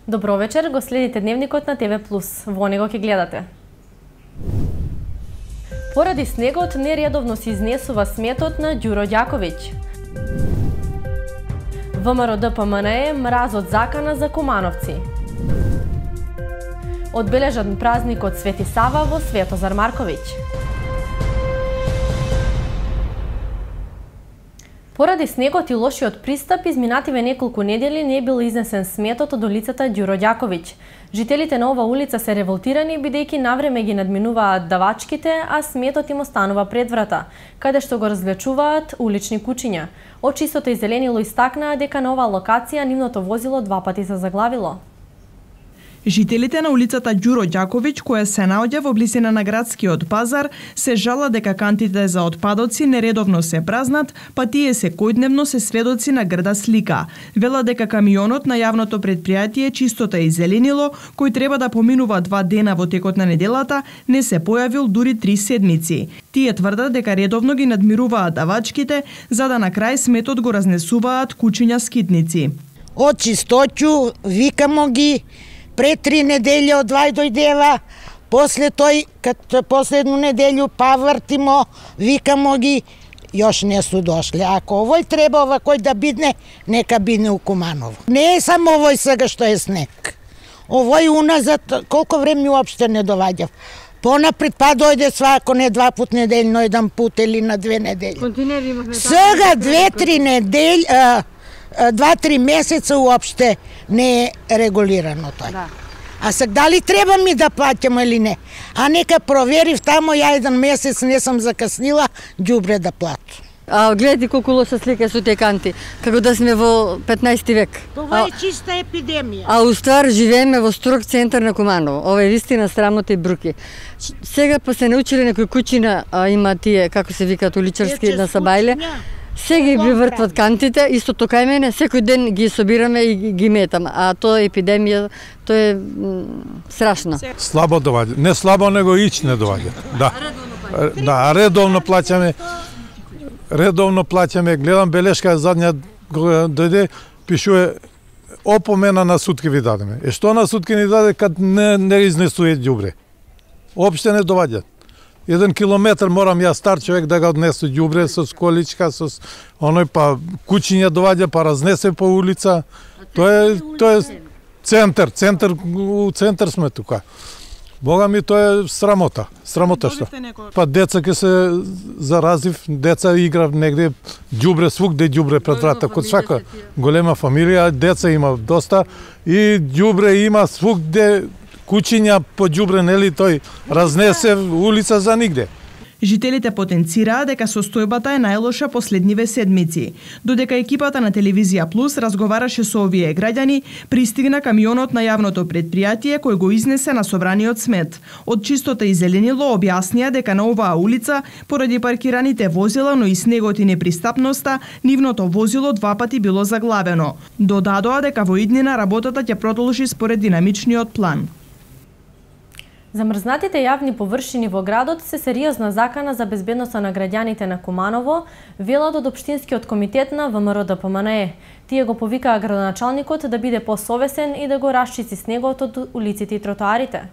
Добро вечер, го следите Дневникот на ТВ+. Во него ќе гледате. Поради снегот нередовно се изнесува сметот на Ѓуро Ѓаковиќ. ВМРО ДПМНЕ мразот закана за Кумановци. Одбележан празникот Свети Сава во Светозар Марковиќ. Поради снегот и лошиот пристап, изминативе неколку недели не бил изнесен сметот од улицата Ѓуро Ѓаковиќ. Жителите на ова улица се револтирани бидејќи навреме ги надминуваат давачките, а сметот им останува пред врата, каде што го развлечуваат улични кучиња. Од Чистото и зеленило истакнаа дека на оваа локација нивното возило 2 пати се заглавило. Жителите на улицата Ѓуро Ѓаковиќ, која се наоѓа во близина на градскиот пазар, се жала дека кантите за отпадоци нередовно се празнат, па тие секојдневно се сведоци на грда слика. Вела дека камионот на јавното претпријатие Чистота и зеленило, кој треба да поминува 2 дена во текот на неделата, не се појавил дури 3 седмици. Тие тврдат дека редовно ги надмируваат давачките, за да на крај сметот го разнесуваат кучиња скитници. Од чистоќу викамо ги, пред 3 недели од Вај дојдева, после тој, кад последну неделю павртимо, викамо ги, још не су дошли. Ако овој треба овакој да бидне, нека бидне у Куманово. Не е само овој сега што е снег. Овој уназад, колко време уопште не доваѓав. Понапред па дојде свако не 2 пат неделно, 1 пут или на 2 недели. Сега 2-3 недели, 2-3 месеца уопште не е регулирано тој. Да. А сега дали треба ми да плаќам или не? А нека проверив тамо, ја 1 месец не сум закаснила ѓубре да платам. А гледате колку лоша слика со тие канти, како да сме во 15 век. Това е чиста епидемија. А уствар живееме во строг центар на Куманово. Ова е вистина срамота и бруки. Сега па се научиле некои кучина, има тие како се викаат уличарски на Сабајле. Сега ги вртват кантите, исто тока и мене, секој ден ги собираме и ги метам, а тоа е епидемија, тоа е страшно. Слабо доваѓа, не слабо, него ич не доваѓа. Да. Да, редовно плаќаме. Редовно плаќаме, гледам белешка задња дојде, пишува опомена на сутки ви дадеме. Што на сутки ни даде кад не изнесуе ѓубре? Опште не доваѓа. 1 километар морам ја стар човек да го однесу ѓубре со количка, со оној па кучиња доваѓа, па разнесе по улица. Тоа е центар, у центар сме тука. Бога ми, тоа е срамота. Срамота што. Па деца ке се заразив, деца играв негде ѓубре, свугде ѓубре пред врата, код свака голема фамилија, деца има доста и ѓубре има свугде. Кучиња по ѓубре, нели, тој разнесе улица за нигде. Жителите потенцираа дека состојбата е најлоша последниве седмици. Додека екипата на Телевизија Плюс разговараше со овие граѓани, пристигна камионот на јавното претпријатие кој го изнесе на собраниот смет. Од Чистота и зеленило објаснија дека на оваа улица, поради паркираните возила, но и снегот и непристапноста, нивното возило 2 пати било заглавено. Додадоа дека во иднина работата ќе продолжи според динамичниот план. Замрзнатите јавни површини во градот се сериозна закана за безбедноста на граѓаните на Куманово, велат од Општинскиот комитет на ВМРО ДПМНЕ. Тие го повикаа градоначалникот да биде посовесен и да го расчисти снегот од улиците и тротоарите.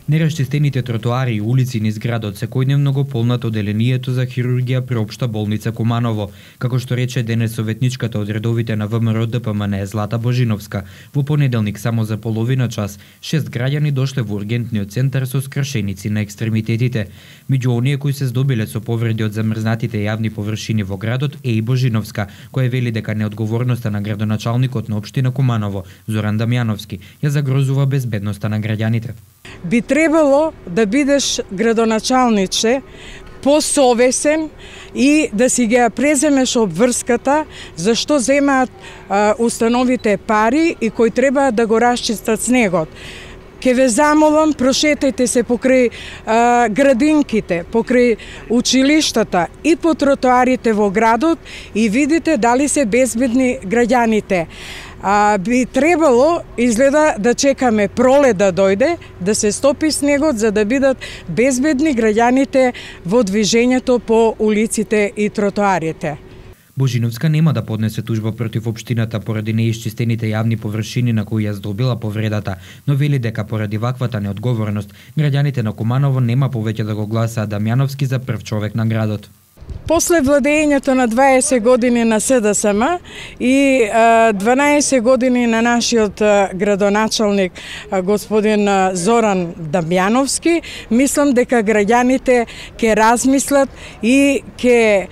Нерасчистените тротоари и улици низ градот секојдневно го полнат оделението за хирургија при Општа болница Куманово, како што рече денес советничката од редовите на ВМРО ДПМНЕ Злата Божиновска. Во понеделник само за половина час 6 граѓани дошле во ургентниот центар со скршеници на екстремитетите. Меѓу оние кои се здобиле со повреди од замрзнатите јавни површини во градот е и Божиновска, која вели дека неодговорноста на градоначалникот на општина Куманово Зоран Дамјановски ја загрозува безбедноста на граѓаните. Би требало да бидеш градоначалниче посовесен и да си ги преземеш обврската зашто земаат установите пари и кои треба да го расчистат снегот. Ке ве замолам, прошетајте се покрај градинките, покрај училиштата и по тротоарите во градот и видите дали се безбедни граѓаните. Би требало, изгледа, да чекаме пролет да дојде, да се стопи снегот, за да бидат безбедни граѓаните во движењето по улиците и тротоарите. Божиновска нема да поднесе тужба против општината поради неисчистените јавни површини на кои ја здобила повредата, но вели дека поради ваквата неодговорност граѓаните на Куманово нема повеќе да го гласаат Дамјановски за прв човек на градот. После владењето на 20 години на СДСМ и 12 години на нашиот градоначалник господин Зоран Дамјановски, мислам дека граѓаните ќе размислат и ќе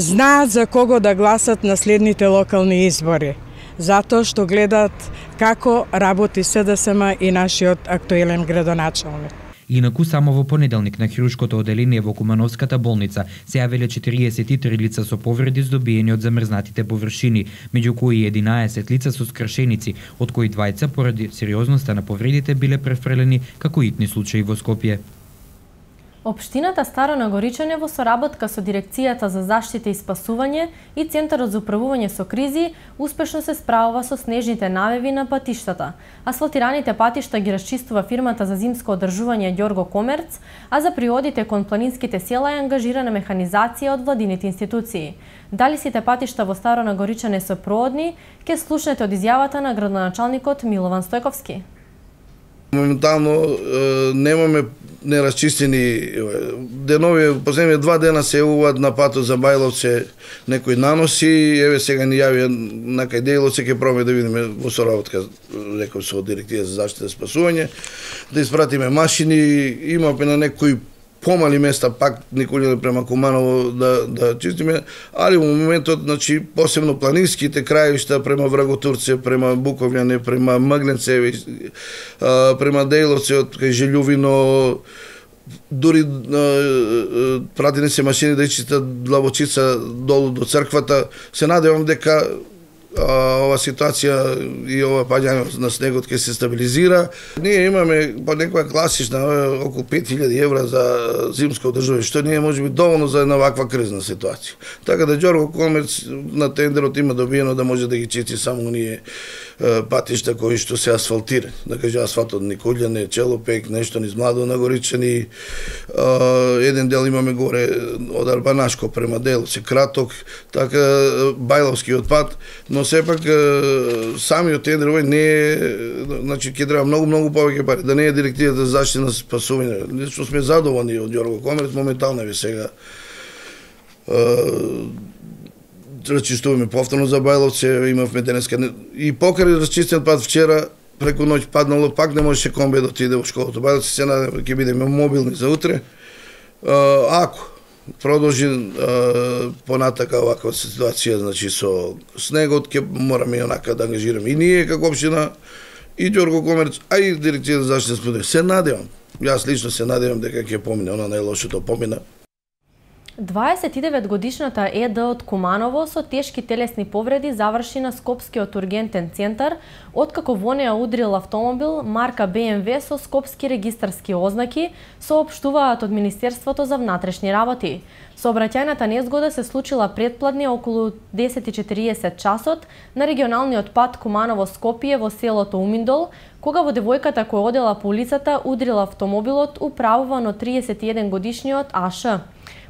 знаат за кого да гласат на следните локални избори. Затоа што гледат како работи СДСМ и нашиот актуелен градоначалник. Инаку само во понеделник на хируршкото оделение во Кумановската болница се јавиле 43 лица со повреди здобиени од замрзнатите површини, меѓу кои 11 лица со скршеници, од кои двајца поради сериозноста на повредите биле префрлени како итни случаи во Скопје. Општината Старо Нагоричане во соработка со Дирекцијата за заштита и спасување и Центарот за управување со кризи успешно се справува со снежните навеви на патиштата. Асфалтираните патишта ги расчистува фирмата за зимско одржување Ѓорго Комерц, а за приодите кон планинските села е ангажирана механизација од владините институции. Дали сите патишта во Старо Нагоричане се проодни, ќе слушнете од изјавата на градоначалникот Милован Стојковски. Моментално немаме нерасчистени денови, последните 2 дена се јавуваат на патот за Бајловце некои наноси, еве сега ни јави на кај Дејловце, ќе пробаме да видиме во соработка, реков со Директива за заштита и спасување, да испратиме машини, имаме на некои помали места пак Николине према Куманово да чистиме, али во моментот, значи, посебно планинските крајишта према Враготурце, према Буковљане, према Мгленцеви, према Дејловце од кај Желјувино, дури пратени се машини да чистат Длабочица долу до црквата. Се надевам дека ова ситуација и ова паѓање на снегот ќе се стабилизира. Ние имаме по некоја класична околу 5000 евра за зимско одржување, што не е можеби доволно за една ваква кризна ситуација. Така да Ѓорго Комерц на тендерот има добиено да може да ги чисти само оние патишта кои што се асфалтирани. Да кажа асфалт од Николјане, Челопек, нешто низ Младо Нагоричани, еден дел имаме горе од Арбанашко према Дејловце, Краток, така Бајловскиот пат, но сепак самиот тендер овој не е, значи ќе треба многу повеќе пари, да не е Директивата за заштита на спасување. Лично сме задоволни од Ѓорго Комерц, моментално ви сега расчистуваме повторно за Бајловце, имавме денеска и покрај расчистен пат вчера, преку ноќ паднало, пак не можеше комбе да отиде во школата. Бајловце се надеваме ќе бидеме мобилни за утре. Ако продолжи понатака ваква ситуација, значи со снегот, ќе мораме онака да ангажираме и ние како општина, и Ѓорго Комерц, а и Дирекција за заштита и спасување. Се надевам, јас лично се надевам дека ќе помине, она најлошото помина. 29-годишната ЕД од Куманово со тешки телесни повреди заврши на Скопскиот ургентен центар, откако во неа удрил автомобил марка BMW со скопски регистарски ознаки, соопштуваат од Министерството за внатрешни работи. Сообраќајната незгода се случила предпладне околу 10:40 часот на регионалниот пат Куманово-Скопје во селото Уминдол, кога во девојката која одела по улицата удрил автомобилот управуван од 31 годишниот АШ.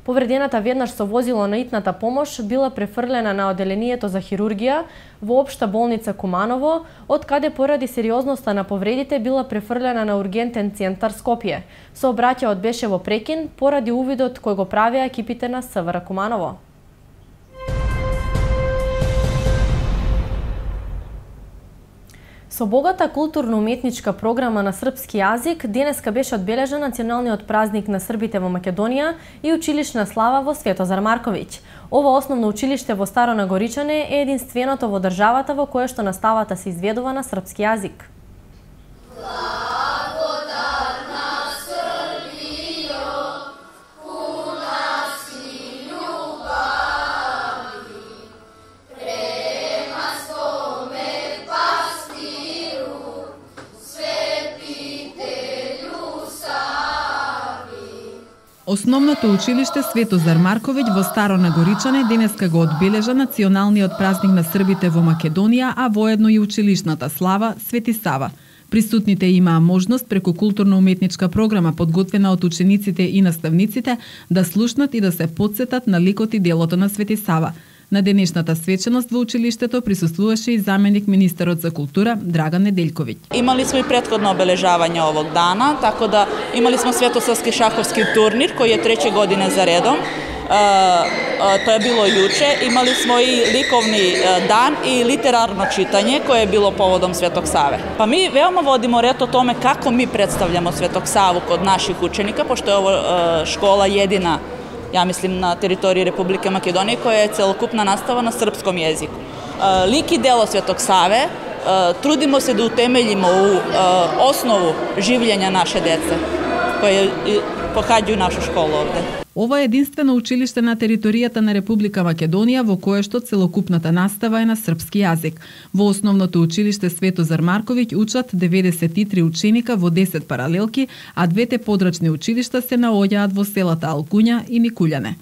Повредената веднаш со возило на итната помош била префрлена на оделението за хирургија во Општа болница Куманово, од каде поради сериозноста на повредите била префрлена на ургентен центар Скопје. Сообраќајот беше во прекин поради увидот кој го правеа екипите на СВР Куманово. Со богата културно-уметничка програма на српски јазик, денеска беше одбележан националниот празник на србите во Македонија и училишна слава во Светозар Марковиќ. Ова основно училиште во Старо Нагоричане е единственото во државата во кое што наставата се изведува на српски јазик. Основното училиште Светозар Марковиќ во Старо Нагоричане денеска го одбележа националниот празник на србите во Македонија, а воедно и училишната слава Свети Сава. Присутните имаа можност преку културно-уметничка програма подготвена од учениците и наставниците да слушнат и да се потсетат на ликот и делото на Свети Сава. На денешната свеченост во училиштето присуствуваше и заменик министерот за култура Драган Неделјковиќ. Имали смо и претходно обележавање овог дана, така да имали смо светосавски шаховски турнир кој е 3 година за редом. Тоа е било јуче. Имали смо и ликовни дан и литерарно читање кое е било поводом Светог Саве. Па ми веома водимо ред о томе како ми представљамо Светог Саву код наших ученика, пошто е ова школа едина, ја мислим, на територија Република Македонија која е целокупна настава на српском јазику. Лик и дело Светог Саве трудимо се да утемелимо у основу живљења наше деце кои поhaѓају нашу школу овде. Ова е единствено училиште на територијата на Република Македонија во кое што целокупната настава е на српски јазик. Во основното училиште Светозар Марковиќ учат 93 ученика во 10 паралелки, а двете подрачни училишта се наоѓаат во селата Алкуња и Микуљане.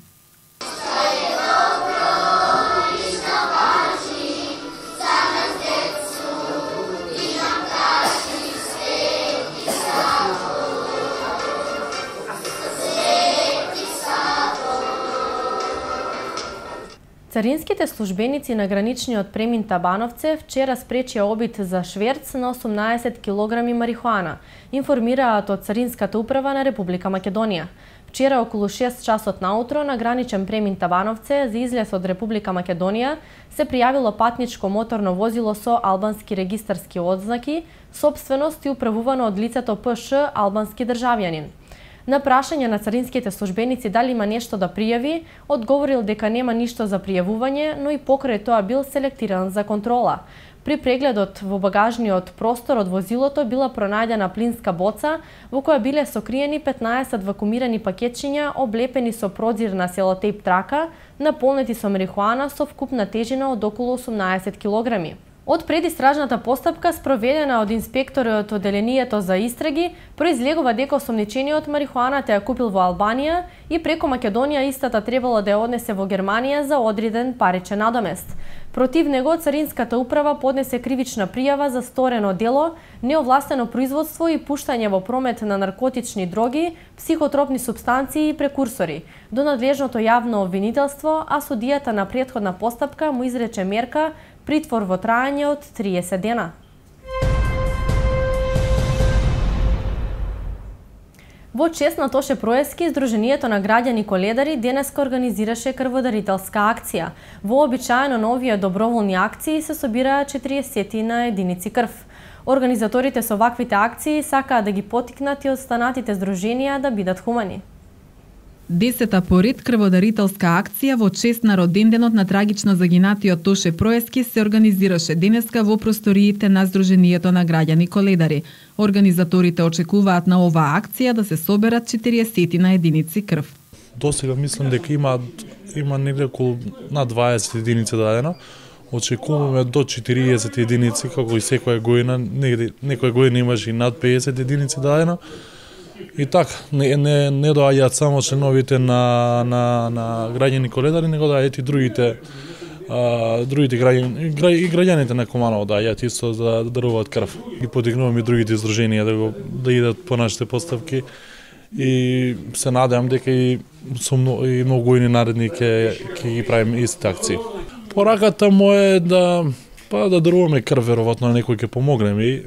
Царинските службеници на граничниот премин Табановце вчера спречија обид за шверц на 18 килограми марихуана, информираат од Царинската управа на Република Македонија. Вчера околу 6 часот наутро на граничен премин Табановце за излез од Република Македонија се пријавило патничко моторно возило со албански регистарски одзнаки, собственост и управувано од лицето ПШ албански државјанин. На прашање на царинските службеници дали има нешто да пријави, одговорил дека нема ништо за пријавување, но и покрај тоа бил селектиран за контрола. При прегледот во багажниот простор од возилото била пронајдена плинска боца во која биле сокриени 15 вакуумирани пакетчиња облепени со продзирна селотейп трака, наполнети со марихуана со вкупна тежина од околу 18 килограми. Од предистражната постапка спроведена од инспекторот од Одделението за истраги, произлегува дека осомничениот марихуаната ја купил во Албанија и преку Македонија истата требало да ја однесе во Германија за одреден паричен надомест. Против него Царинската управа поднесе кривична пријава за сторено дело, неовластено производство и пуштање во промет на наркотични дроги, психотропни супстанции и прекурсори до надлежното јавно обвинителство, а судијата на претходна постапка му изрече мерка притвор во трајање од 30 дена. Во чест на Тоше Проески, Сдруженијето на граѓани Коледари денеска организираше крводарителска акција. Вообичаено на овие доброволни акции се собираат 40 на единици крв. Организаторите со ваквите акции сакаат да ги поттикнат и останатите здруженија да бидат хумани. 10-та поред крводарителска акција во чест на роденденот на трагично загинатиот Тоше Проески се организираше денеска во просториите на Сдруженијето на граѓани Коледари. Организаторите очекуваат на оваа акција да се соберат 40 на единици крв. Досега мислам дека има негде околу на 20 единици дадено. Очекуваме до 40 единици, како и секоја година, негде некоја година имаше и над 50 единици дадено. И така, не доаѓаат само членовите на граѓани Коледари, него доаѓаат и другите граѓаните на Куманово доаѓаат исто да даруваат крв. И подигнуваме и другите здруженија да идат по нашите поставки и се надевам дека и многу години наредни ќе ги правиме истите акции. Пораката му е да даруваме крв, веројатно некој ќе помогнеме и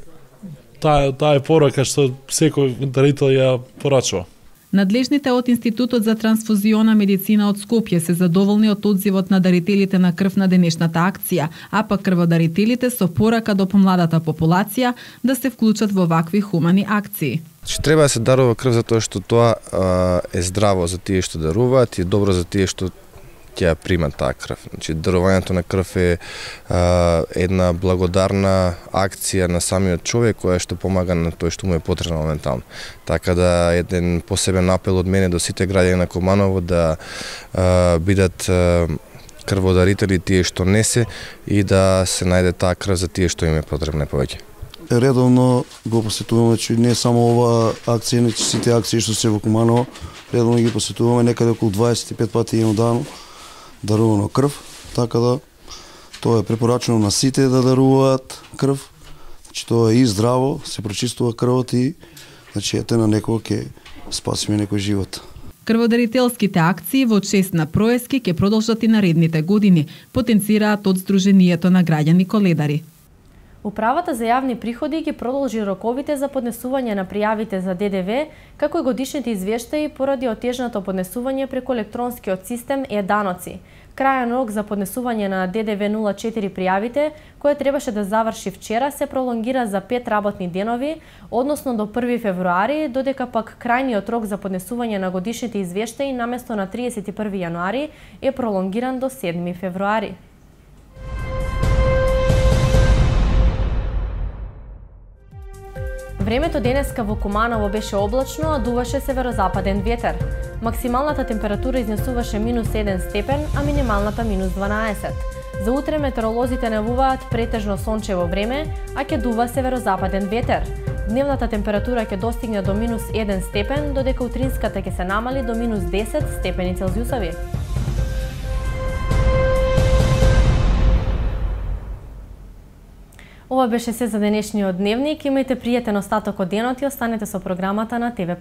таа е порака што секој дарител ја порачува. Надлежните од Институтот за трансфузиона медицина од Скопје се задоволни од одзивот на дарителите на крв на денешната акција, а пак крводарителите со порака до помладата популација да се вклучат во вакви хумани акции. Треба да се дарува крв затоа што тоа е здраво за тие што даруваат и добро за тие што ќе ја примат таа крв. Значи, дарувањето на крв е една благодарна акција на самиот човек која што помага на тој што му е потребно моментално. Така да еден посебен апел од мене до сите граѓани на Куманово да бидат крводарители тие што не се и да се најде таа крв за тие што им е потребна повеќе. Редовно го посетуваме, че не само ова акција, не сите акции што се во Куманово, редовно ги посетуваме, некаде околу 25 пати еднодневно дарувано крв, така да тоа е препорачено на сите да даруваат крв. Значи тоа е и здраво, се прочистува крвот и значи ете на некој ќе спасиме некој живот. Крводарителските акции во чест на Проески ќе продолжат и наредните години, потенцираат од Сдруженијето на граѓани Коледари. Управата за јавни приходи ги продолжи роковите за поднесување на пријавите за ДДВ, како и годишните извештаи поради отежното поднесување преку електронскиот систем е-даноци. Крајен рок за поднесување на ДДВ 04 пријавите, кој требаше да заврши вчера, се пролонгира за 5 работни денови, односно до 1 февруари, додека пак крајниот рок за поднесување на годишните извештаи наместо на 31 јануари е пролонгиран до 7 февруари. Времето денеска во Куманово беше облачно, а дуваше северозападен ветер. Максималната температура изнесуваше -1 степен, а минималната -12. За утре метеоролозите најавуваат претежно сончево време, а ќе дува северозападен ветер. Дневната температура ќе достигне до -1 степен, додека утринската ќе се намали до -10 степени Целзиусови. Ова беше се за денешниот дневник. Имајте пријатен остаток од денот и останете со програмата на ТВ+.